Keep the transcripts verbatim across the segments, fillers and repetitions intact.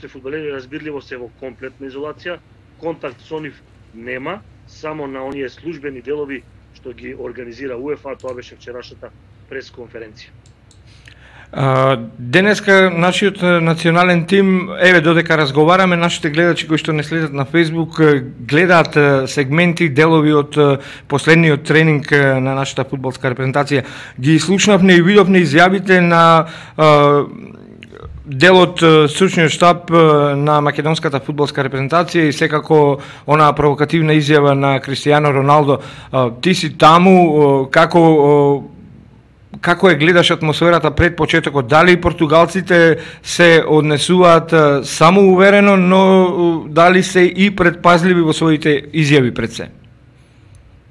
нашите фудбалери разбирливо се во комплетна изолација, контакт со нив нема, само на оние службени делови што ги организира УЕФА, тоа беше вчерашната пресконференција. Uh, денеска нашиот национален тим, еве додека разговараме, нашите гледачи кои што не следат на Facebook гледаат сегменти, делови од последниот тренинг на нашата фудбалска репрезентација. Ги слушнавме и видовме изјавите на uh, делот стручниот штаб на македонската фудбалска репрезентација и секако онаа провокативна изјава на Кристијано Роналдо. Uh, ти си таму, како uh, Како е гледаш атмосферата пред почетокот? Дали португалците се однесуваат само уверено, но дали се и предпазливи во своите изјави пред се?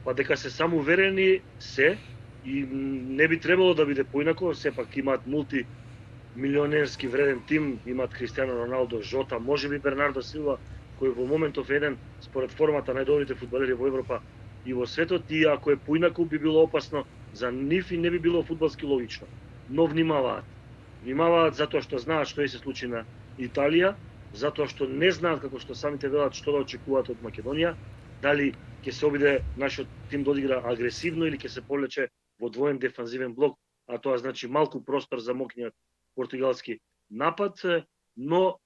Па дека се само уверени се и не би требало да биде поинако, сепак имаат мултимилионерски вреден тим, имаат Кристијано Роналдо, Жота, можеби Бернардо Силва, кој во моментов еден според формата најдобрите фудбалери во Европа и во светот, и ако е поинако би било опасно за нив и не би било фудбалски логично. Но внимаваат. Внимаваат затоа што знаат што се случи на Италија, затоа што не знаат, како што самите велат, што да очекуваат од Македонија, дали ќе се обиде нашиот тим да одигра агресивно или ќе се повлече во двоен дефанзивен блок, а тоа значи малку простор за мокниот португалски напад, но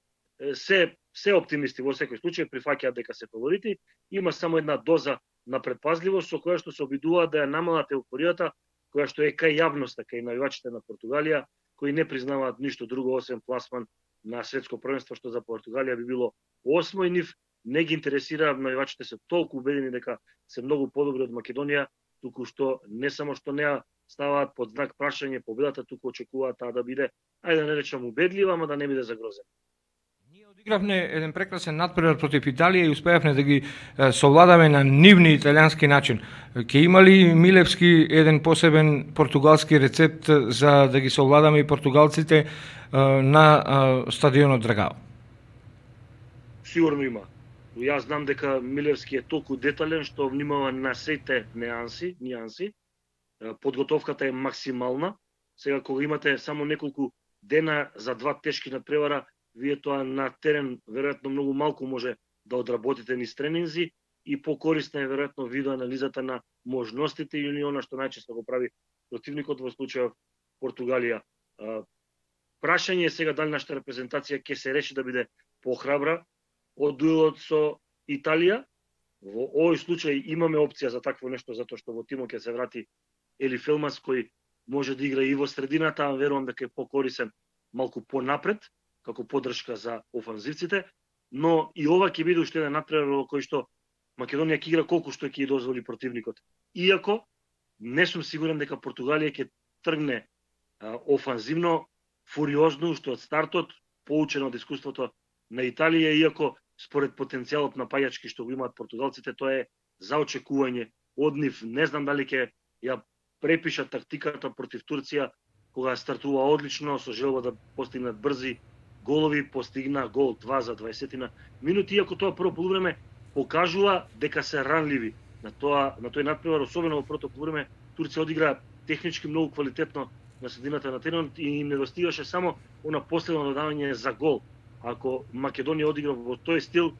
се се оптимисти во секој случај прифаќаат дека се фаворити, има само една доза на предпазливост со која што се обидуваат да ја намалат еуфоријата која што е кај јавноста, кај навивачите на Португалија, кои не признаваат ништо друго освен пласман на светско првенство, што за Португалија би било осмо, и нив не ги интересира, навивачите се толку убедени дека се многу подобри од Македонија, туку што не само што не ставаат под знак прашање победата, туку очекуваат таа да биде, ајде да не речам убедлива, ама да не биде загрозена. Ние одигравме еден прекрасен надпревар против Италија и успеавме да ги совладаме на нивни италијански начин. Ке има ли Милевски еден посебен португалски рецепт за да ги совладаме и португалците на стадионот Драгao? Сигурно има. Јас знам дека Милевски е толку детален што внимава на сите неанси, нијанси. Подготовката е максимална. Сега кога имате само неколку дена за два тешки надпревара, вие тоа на терен веројатно многу малку може да одработите низ тренинзи и покорисна е веројатно видеоанализата на можностите и она што најчесто го прави противникот, во случајот Португалија. Прашање е сега дали нашата репрезентација ќе се реши да биде похрабра од дуелот со Италија. Во овој случај имаме опција за такво нешто, затоа што во тимот ќе се врати Ели Фелмас, кој може да игра и во средината, а верувам дека е покорисен малку понапред, како поддршка за офанзивците, но и ова ќе биде уште еден надпревар во кој што Македонија ќе игра колку што ќе дозволи противникот. Иако не сум сигурен дека Португалија ќе тргне а, офанзивно, фуриозно уште од стартот, поучено од искуството на Италија, иако според потенцијалот на пајачки што го имаат португалците, тоа е за очекување од нив. Не знам дали ќе ја препишат тактиката против Турција, кога стартува одлично, со желба да постигнат брзи голови, постигна гол два за дваесет минути, иако тоа прво полувреме покажува дека се ранливи на тоа на тој надпревар, особено во првото полувреме. Турција одигра технички многу квалитетно на средината на теренот и им недостигаше само она последно додавање за гол. Ако Македонија одигра во тој стил,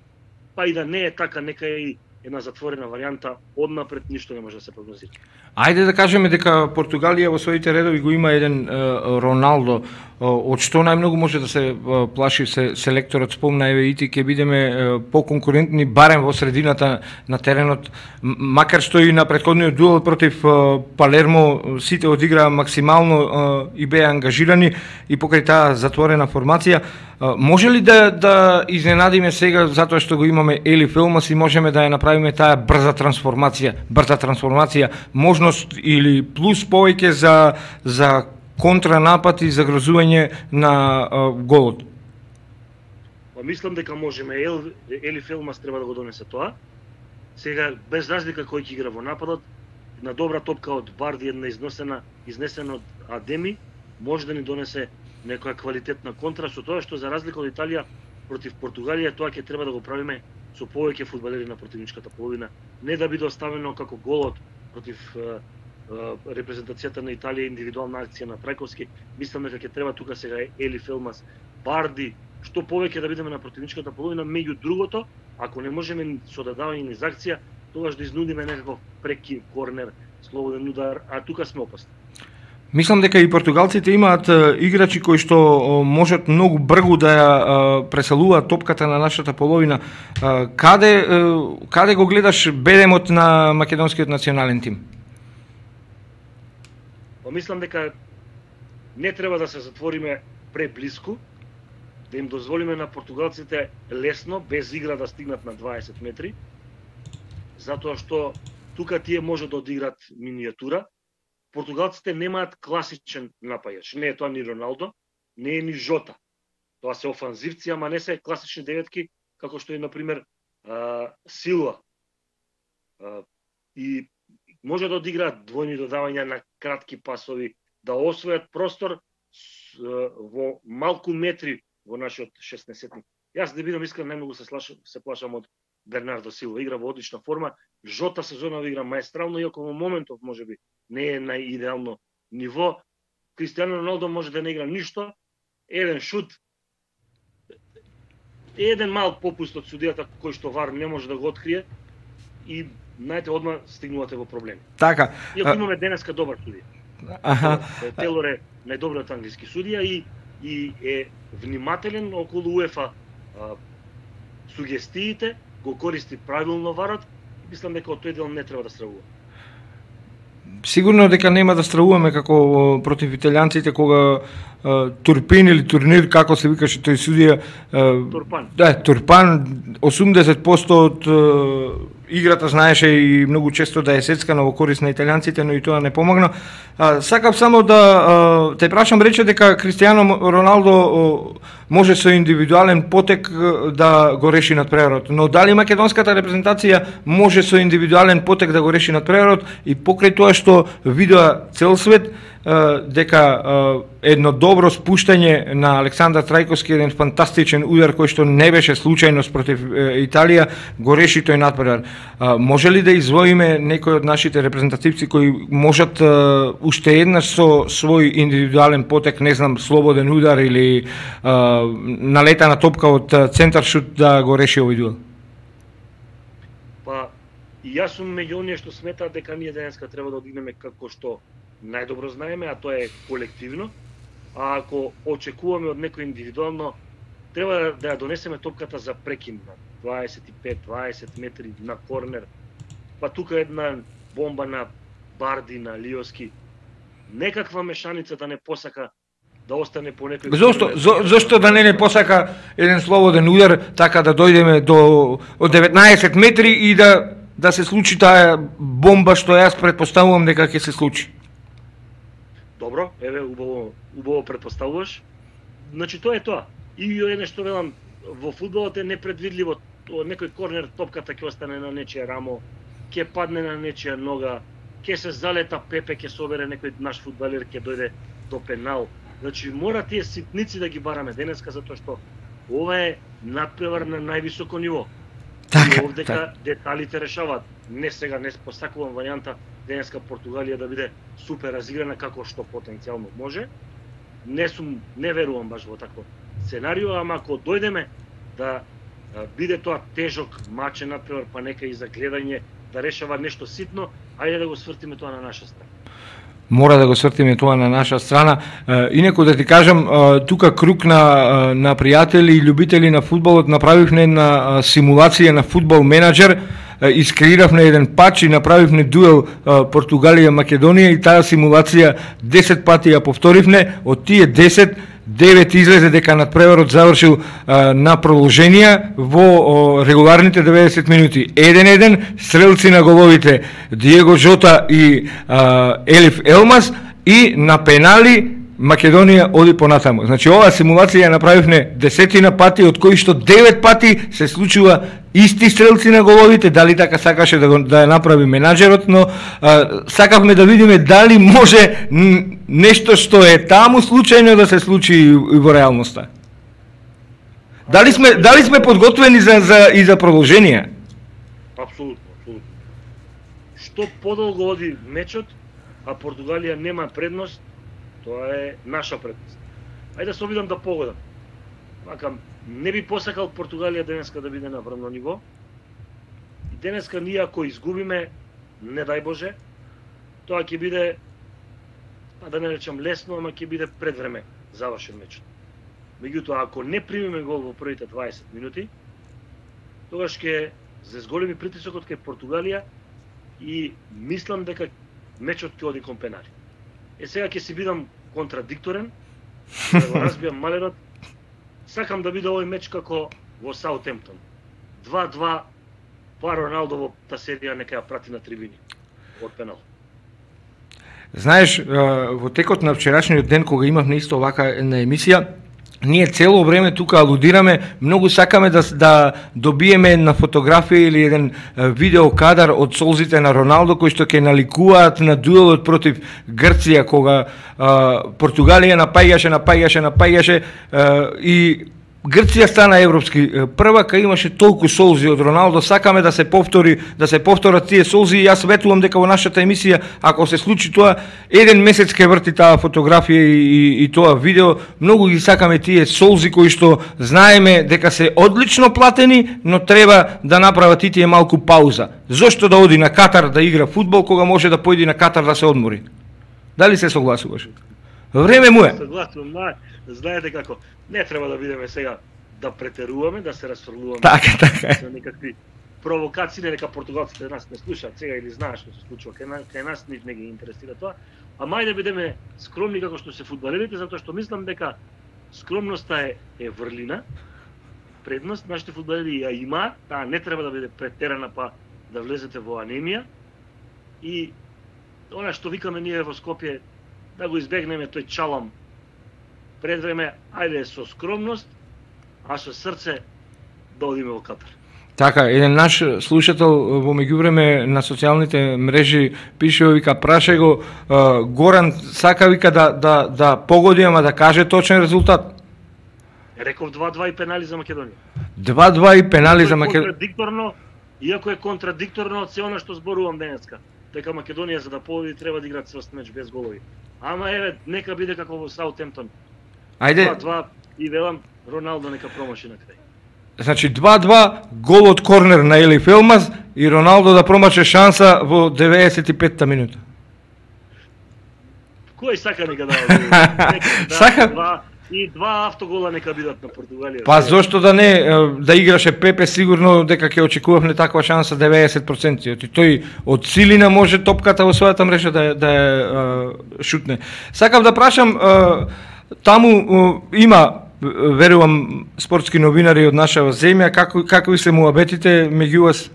па и да не е така, нека е и една затворена варијанта, однапред ништо не може да се прогнозира. Ајде да кажеме дека Португалија во своите редови го има еден е, Роналдо, од што најмногу може да се плаши се селекторот, спомна, еве и ти ќе бидеме поконкурентни барем во средината на теренот, макар што и на претходниот дуел против Палермо сите одиграа максимално и беа ангажирани и покрај таа затворена формација. Може ли да да изненадиме сега затоа што го имаме Ели Фелмас и можеме да ја направиме таа брза трансформација, брза трансформација, можност или плюс повеќе за за контранапад и загрозување на а, голот? Па мислам дека можеме. Ел, Ели Фелмас треба да го донесе тоа. Сега без разлика кој ќе игра во нападот, на добра топка од Барди, една изнесена, изнесена од Адеми, може да ни донесе некоја квалитетна контра, со тоа што за разлика од Италија против Португалија, тоа ќе треба да го правиме со повеќе фудбалери на противничката половина, не да биде оставено како голот против е, е, репрезентацијата на Италија, индивидуална акција на Трајковски. Мислам дека ќе треба тука сега Ели Фелмас, Барди, што повеќе да бидеме на противничката половина, меѓу другото, ако не можеме со додавање низ акција, тогаш да изнудиме некаков преки корнер, слободен удар, а тука сме опасни. Мислам дека и португалците имаат играчи кои што можат многу брзо да ја преселуваат топката на нашата половина. Каде каде го гледаш бедемот на македонскиот национален тим? Па мислам дека не треба да се затвориме преблиску, да им дозволиме на португалците лесно, без игра да стигнат на дваесет метри, затоа што тука тие може да одиграат минијатура. Португалците немаат класичен напајач. Не е тоа ни Роналдо, не е ни Жота. Тоа се офанзивци, ама не се класични деветки, како што е, например, Силва. И може да одиграат двојни додавања на кратки пасови, да освојат простор во малку метри во нашиот шеснаесетник. Јас да бидам искрен, најмногу се, се плашам од Бернардо Силва. Игра во одлична форма. Жота сезонова игра маестрално, иако во моментов можеби не е на идеално ниво. Кристијано Роналдо може да не игра ништо. Еден шут, еден мал попуст од судијата кој што вар не може да го открие и најте одма стигнувате во проблеми. Така. Иако имаме денеска добар судија. Аха. Телор е најдобриот англиски судија и и е внимателен околу УЕФА сугестиите, го користи правилно варот и мислам дека од тој дел не треба да стравува. Сигурно дека нема да стравуваме како против италијанците кога Турпин или Турнир, како се викаше тој судија. Турпан. Да, Турпан, осумдесет проценти од играта знаеше и многу често да е сецкана во корист на италијанците, но и тоа не помогна. Сакав само да те прашам, рече дека Кристијано Роналдо може со индивидуален потек да го реши надпреварот, но дали македонската репрезентација може со индивидуален потек да го реши надпреварот и покрај тоа што видоа цел свет дека едно добро спуштање на Александар Трајковски, еден фантастичен удар кој што не беше случајност против Италија, го реши тој надпревар. Може ли да извоиме некој од нашите репрезентативци кои можат уште еднаш со свој индивидуален потек, не знам, слободен удар или налетана топка од центар шут да го реши овој дуел? Па, и јас сум меѓу оние што сметаат дека ние денеска треба да одигнеме како што најдобро знаеме, а тоа е колективно. А ако очекуваме од некој индивидуално, треба да ја донесеме топката за прекин на дваесет и пет дваесет метри на корнер. Па тука една бомба на Барди, на Лиоски. Некаква мешаница да не посака да остане по некој... Зошто, зо, зошто да не не посака еден слободен удар, така да дојдеме до од деветнаесет метри и да да се случи таа бомба што јас претпоставувам дека ќе се случи? Добро, еве, убаво, убаво претпоставуваш. Значи, тоа е тоа. И едно што велам, во фудбалот е непредвидливо. Некој корнер, топката ќе остане на нечија рамо, ќе падне на нечија нога, ќе се залета Пепе, ќе собере некој наш фудбалер, ќе дојде до пенал. Значи, мора тие ситници да ги бараме денеска, затоа што ова е надпревар на највисоко ниво. Така, и овдека така. деталите решаваат. Не сега, не посакувам варијанта денеска Португалија да биде супер разиграна како што потенцијално може. Не сум, не верувам баш во такво сценарио, ама ако дојдеме да биде тоа тежок мачен надпревар, па нека и за гледање да решава нешто ситно, ајде да го свртиме тоа на наша страна. Мора да го свртиме тоа на наша страна. Инаку да ти кажам, тука круг на на пријатели и љубители на фудбалот направивме една симулација на фудбал менаџер, искреиравме еден пач и направивме дуел Португалија-Македонија и таа симулација десет пати ја повторивме, од тие десет девет излезе дека надпреварот завршил а, на продолженија во о, регуларните деветдесет минути. еден-еден, стрелци на головите Диего Жота и а, Елиф Елмас и на пенали Македонија оди понатаму. Значи оваа симулација ја направивме десетина пати, од кои што девет пати се случува исти стрелци на головите, дали така сакаше да, го, да ја направи менаџерот, но а, сакавме да видиме дали може нешто што е таму случајно да се случи и во реалноста. Дали сме дали сме подготвени за за и за продолженија? Апсолутно, апсолутно. Што подолго оди мечот, а Португалија нема предност, тоа е наша предност. Ајде да се обидам да погодам. вака, не би посакал Португалија денеска да биде на врвно ниво. И денеска ние ако изгубиме, не дај Боже, тоа ќе биде, па да не речам лесно, ама ќе биде пред време завршен мечот. Меѓутоа, ако не примиме гол во првите дваесет минути, тогаш ќе се зголеми притисокот кај Португалија и мислам дека мечот ќе оди кон пенали. Е сега ќе си бидам контрадикторен, да го разбијам малерот. Сакам да биде овој меч како во Саутемптон. два-два, па Роналдо во та серија нека ја прати на трибини од пенал. Знаеш, во текот на вчерашниот ден кога имавме исто овака една емисија, ние цело време тука алудираме, многу сакаме да да добиеме една фотографија или еден видео кадар од солзите на Роналдо кои што ќе наликуваат на дуелот против Грција кога а, Португалија напаѓаше, напаѓаше, напаѓаше а, и Грција стана европски првак, имаше толку солзи од Роналдо, сакаме да се повтори, да се повторат тие солзи и јас ветувам дека во нашата емисија, ако се случи тоа, еден месец ќе врти таа фотографија и, и, и тоа видео, многу ги сакаме тие солзи кои што знаеме дека се одлично платени, но треба да направат и тие малку пауза. Зошто да оди на Катар да игра фудбал кога може да појде на Катар да се одмори? Дали се согласуваш? Време му е. Согласувам, знаете како, не треба да бидеме сега да претеруваме, да се расфрлуваме. Така, така. За некакви провокации, нека португалците нас не слушаат сега или знаеш што се случува кај нас, кај нас нив не ги интересира тоа. А мај да бидеме скромни како што се фудбалерите, затоа што мислам дека скромноста е, е врлина, предност, нашите фудбалери ја има, таа не треба да биде претерана па да влезете во анемија. И она што викаме ние во Скопје, да го избегнеме тој чалам пред време, ајде со скромност, а со срце да одиме во Катар. Така, еден наш слушател во меѓувреме на социјалните мрежи пише, вика, праше го uh, Горан, сака вика да да да погоди, ама да каже точен резултат. Реков два-два и пенали за Македонија. два-два и пенали за Македонија. Контрадикторно, иако е контрадикторно од се она што зборувам денеска, дека Македонија за да победи треба да играат сврст меч без голови. Ама еве, нека биде како во Саутемптон. Ајде. два-два и велам Роналдо нека промаши на крај. Значи два-два, гол од корнер на Елиф Елмаз и Роналдо да промаче шанса во деветдесет и петта минута. Кој сака нека да Сака два и два автогола нека бидат на Португалија. Па зошто да не, да играше Пепе, сигурно дека ќе очекувавме таква шанса деветдесет проценти. И тој од силина може топката во својата мрежа да да е шутне. Сакам да прашам, таму има, верувам, спортски новинари од нашава земја, како какви се муабетите меѓу вас?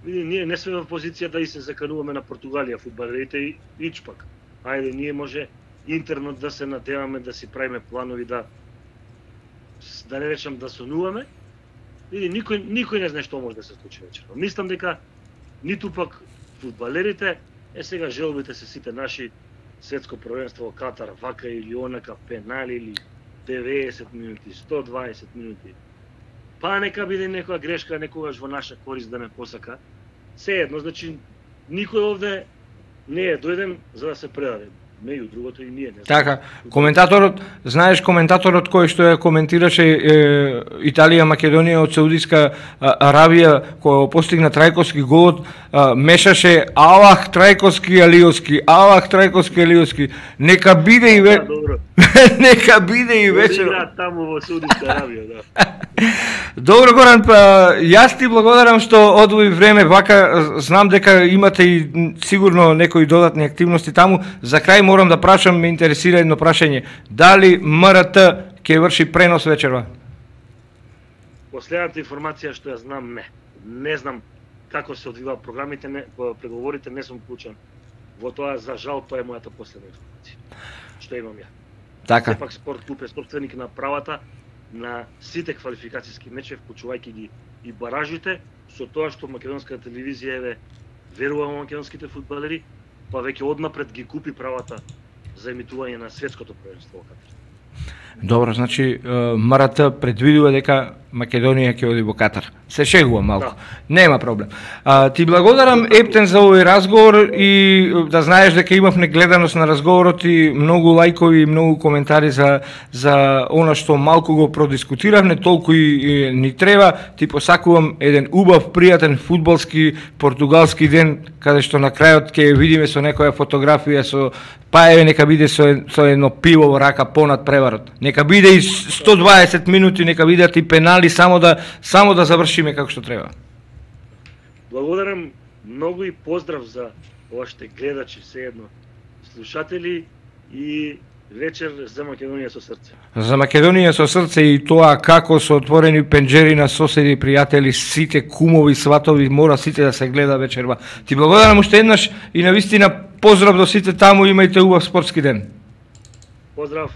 Ние не сме во позиција да и се закануваме на Португалија фудбалерите и ичпак. Ајде, ние може интернет да се надеваме, да си правиме планови, да да не речам да сонуваме. Види, никој никој не знае што може да се случи вечерва. Мислам дека ниту пак фудбалерите, е сега желбите се сите наши, светско првенство во Катар, вака или онака, пенали или деветдесет минути, сто дваесет минути. Па нека биде некоја грешка некогаш во наша корист да не посака. Се едно, значи никој овде не е дојден за да се предаде. Меѓу другото и ние не. Така, коментаторот, знаеш коментаторот кој што ја коментираше е, Италија Македонија од Саудиска Аравија кој постигна трајковски голот, мешаше Аллах трајковски алиоски, Аллах трајковски алиоски. Нека биде и ве... Нека биде и вечер. Играат таму во Саудиска Аравија, да. Добро, Горан, па јас ти благодарам што одвои време вака, знам дека имате и сигурно некои додатни активности таму. За крај морам да прашам, ме интересира едно прашање. Дали МРТ ќе врши пренос вечерва? Последната информација што ја знам, не. Не знам како се одвива програмите, не, преговорите, не сум вклучен во тоа, за жал, тоа е мојата последна информација што имам ја. Така. Сепак Спорт клуб е собственик на правата на сите квалификацијски мечеви, вклучувајќи ги и баражите, со тоа што македонската телевизија еве верува во македонските фудбалери, па веќе однапред ги купи правата за емитување на светското првенство во Катар. Добро, значи МРТ предвидува дека Македонија ќе оди во Катар. Се шегувам малку. Да. Нема проблем. А, ти благодарам, Ептен, за овој разговор и да знаеш дека имавме гледаност на разговорот и многу лајкови и многу коментари за за она што малку го продискутиравме, толку и, и ни треба. Ти посакувам еден убав, пријатен фудбалски португалски ден, каде што на крајот ќе видиме со некоја фотографија со па еве нека биде со, со едно пиво во рака понад преварот. Нека биде и сто дваесет минути, нека бидат и пенали, само да само да завршиме како што треба. Благодарам многу и поздрав за вашите гледачи, sejedno слушатели, и вечер за Македонија со срце. За Македонија со срце, и тоа како со отворени пенџери на соседи, пријатели, сите кумови, сватови, мора сите да се гледа вечерва. Ти благодарам уште еднаш и навистина поздрав до сите таму, имајте убав спортски ден. Поздрав.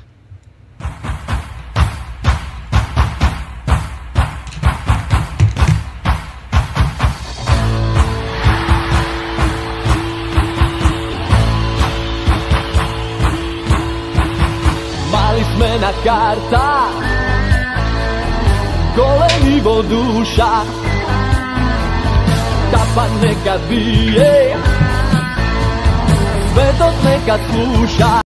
Сме на карта, големи во душа, тапа нека бие, светот нека слуша.